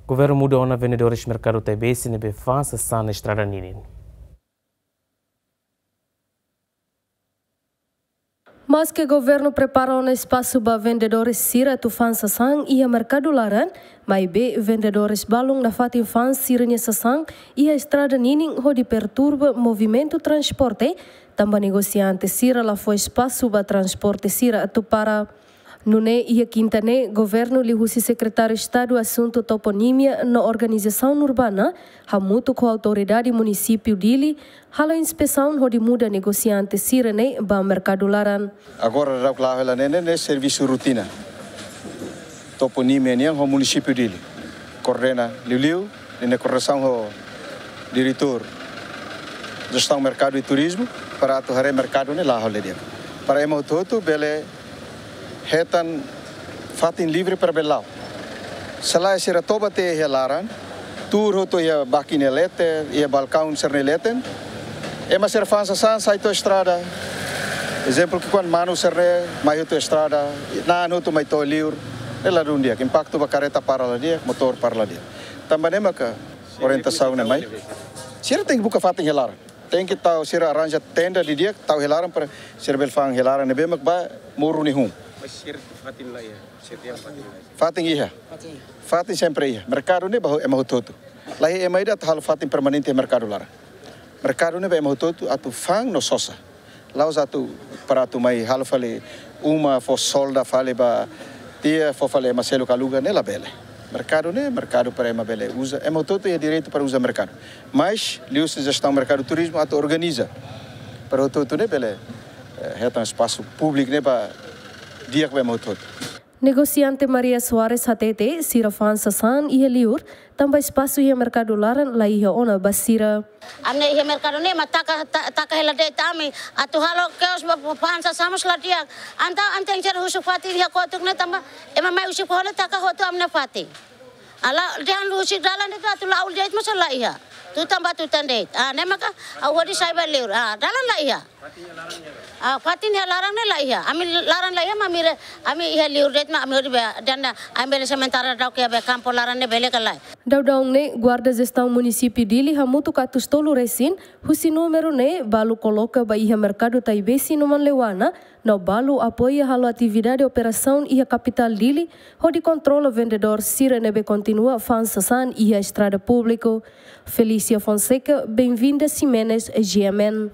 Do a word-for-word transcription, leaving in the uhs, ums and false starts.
Governu muda ona vendedores merkadu Taibesi ne'ebé fa'an sasán iha estrada ninin. Maske governu prepara ona espasu ba vendedores sira atu fa'an sasán iha merkadu laran, maibé vendedores balun nafatin fa'an sira-nia sasán iha estrada ninin hodi perturba movimentu transporte, tanba negosiante sira la fó espasu ba transporte sira atu para. Nune'e iha kinta ne'e, governu liuhusi Sekretáriu Estadu Asuntu Toponímia no Organizasaun Urbana, hamutuk ho autoridade munisípiu Dili, halo inspesaun hodi muda negosiante sira-ne'e ba merkadu laran. Agora daudaun la'o hela ne'e, ne'e servisu rutina. Toponímia nian ho munisípiu Dili. Koordena liuliu, ne'e koordenasaun ho diretór jestaun merkadu i turizmu, para atu haree merkadu ne'e la'o hela di'ak. Para ema hotu-hotu bele hetan fatin livre para bele la'o. Se lae sira toba tiha iha laran, tuur hotu iha bakin nia leten, iha balkaun sira-nia leten. Ema sira fa'an sasán sai to'o estrada. Ezemplu ki'ikoan manu sira-ne'e mai hotu estrada, na'an hotu mai to'o liur. Ne'e ladún di'ak, impaktu ba kareta para la di'ak, motór para la di'ak. Tanba ne'e maka orientasaun ne'e mai. Sira tenke buka fatin iha laran. Tenke tau sira arranja tenda didi'ak, tau iha laran para sira bele fa'an iha laran ne'ebé mak ba moruk nia hun. Mas sira fatin la iha, sira iha fatin la iha. Fatin iha. Fatin iha. Fatin sempre iha. Merkadu ne'e ba ema hotu-hotu. La iha ema ida atu halo fatin permanente merkadu laran. Merkadu ne'e ba ema hotu-hotu atu fa'an no sosa. La'ós atu para atu mai halo fali uma fó solda fali ba tiha fó fali ema seluk aluga ne'e labele. Merkadu ne'e merkadu para ema bele uza. Ema hotu-hotu iha direitu para uza merkadu. Mas liuhusi jestaun merkadu turizmu atu organiza para hotu-hotu ne'e bele, eh, hetan espasu públiku ne'e ba di'ak ba ema hotu-hotu. Negosiante Maria Soares hatete, sira fa'an sasán iha liur, tanba espasu iha merkadu laran la iha ona ba sira. Ami iha merkadu ne'e ema taka, ta-, taka hela de'it ami, atu halo kios ba, ba fa'an sasán mós la di'ak. Entaun, entaun sira husik fatin iha kotuk ne'e tanba, ema mai husik fó ne'e taka hotu ami-nia fatin. La'ós dehan husik dalan de'it atu la'o de'it mós la iha. Tutan ba tutan de'it. Ah, ne'e maka, ha'u hodi sai ba liur. Ah, dalan la iha. Ah, fatin iha laran ne'e la iha. Ami laran la iha, mak ami re-, ami iha liur de'it mak ami hodi be, dan ami bele sementara daudaun iha be kampu laran ne'e bele ka lae. Daudaun ne'e, guarda jestaun munisípiu Dili hamutuk atus tolu resin, husi númeru ne'e, balu koloka ba iha merkadu Taibesi no Manleuana, no balu apoia halo atividade operasaun iha kapitál Dili, hodi kontrola vendedór sira ne'ebé kontinua fa'an sasán iha estrada públiku. Felícia Fonseca, Benvinda Ximenes, G M N.